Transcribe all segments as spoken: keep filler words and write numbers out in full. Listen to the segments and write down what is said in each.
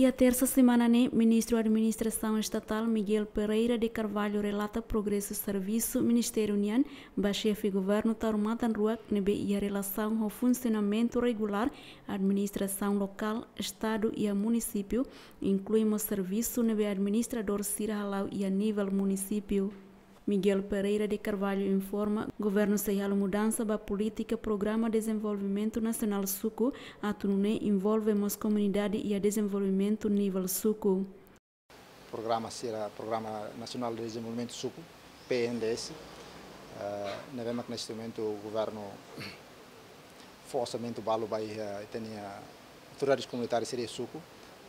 Iha tersa semana ne'e, Ministru Administrasaun Estatál Miguel Pereira de Carvalho relata progresu servisu ministériu nian ba xefe governu Taur Matan Ruak ne'ebé iha relasaun ho funsionamentu regulár administrasaun lokál, estadu iha munisípiu, inklui mós servisu ne'ebé administradór sira hala'o iha nivel munisípiu. Miguel Pereira de Carvalho informa, governu sei halo mudansa ba polítika programa dezenvolvimentu nasionál suku, atu nune'e envolve mós komunidade iha dezenvolvimentu nivel suku. Programa sira, Programa Nasionál de Dezenvolvimentu Suku, P N D S, eh, ne'ebé mak neste momentu governu fó orsamentu balu ba iha, eh, ita-nia autoridades komunitárias sira iha suku,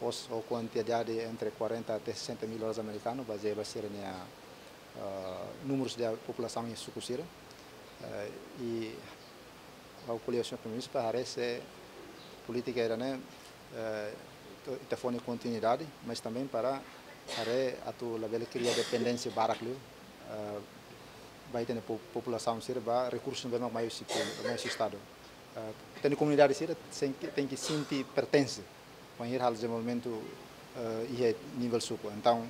ho, ho kuantidade entre quarenta até sessenta mil dólares amerikanu, bazeia ba sira-nia, eh, númerus de populasaun iha suku sira. Eh, i ha'u ko'alia ho señór Primeiru-Ministru para haree se polítika ida-ne'e, eh, ita, ita fó nia kontinuidade, mas também para haree atu labele kria dependénsia barak liu, eh, ba ita-nia po-, populasaun sira ba rekursu ne'ebé mak mai husi públiku, mai husi Estadu. Eh, ita-nia komunidade sira tenke, tenke sente pertense bainhira halo dezenvolvimentu, eh, iha nivel suku. Entaun,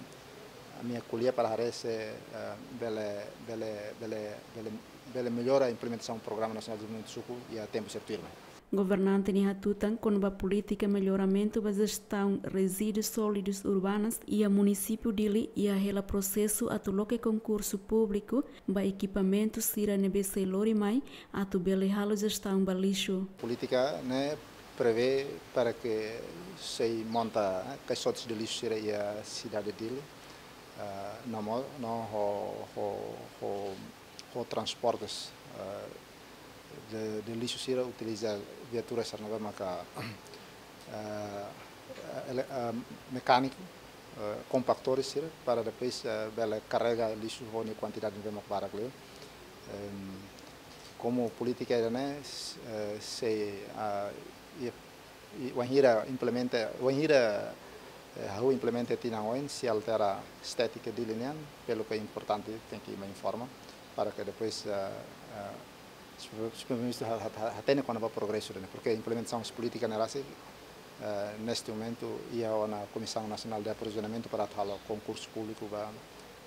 ami ko'alia para haree se, eh, bele, bele, bele, bele, bele mellora implementasaun Programa Nasionál de Dezenvolvimentu Suku iha tempu sira tuirmai. Governante ne'e hatutan kona-ba polítika melloramentu ba jestaun rezíduus sólidus urbanas iha munisípiu Dili iha hela prosesu atu loke konkursu públiku ba ekipamentu sira ne'ebé sei lori mai atu bele halo jestaun ba lixu. Polítika ne'e prevee para que sei monta, eh, caixotes de lixo sira iha sidade Dili, eh, no mo-, no ho, ho, ho, ho transportes, eh, de, de lixu sira utiliza viaturas sira ne'ebé maka, eh, ele-, eh, mekániku, eh, kompaktores sira para depois, eh, bele karrega lixu ho nia kuantidade ne'ebé mak barak liu. Em, komu polítika ida-ne'e, eh, sei, ah, i, i, wainhira implementa, wainhira, eh, ha'u implementa tinan oin, sei altera estétika Dili nian, pelu ke importante tenke mai informa, para que depois, eh, eh, se, se Primeiru-Ministru ha-, ha-, ha-, hatene kona-ba progresu ida-ne'e, porque implementasaun polítika ne'e rasik, eh, neste momento, iha ona Komisaun Nasionál de Aprovizionamentu para atu halo konkursu públiku ba,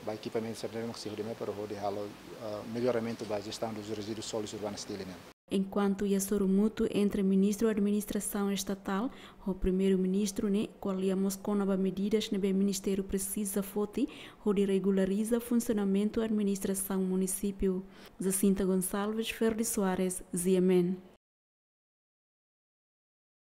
ba ekipamentu sira ne'ebé mak sei hodi mai para hodi halo, eh, melloramentu ba jestaun dos resíduos sólidos urbanos Dili nian. Enkuantu iha sorumutu entre Ministru Administrasaun Estatál ho Primeiru-Ministru ne'e ko'alia mós kona-ba medidas ne'ebé ministériu presiza foti hodi regulariza funsionamentu administrasaun munisípiu. Jacinta Gonçalves, Ferdi Soares, G M N.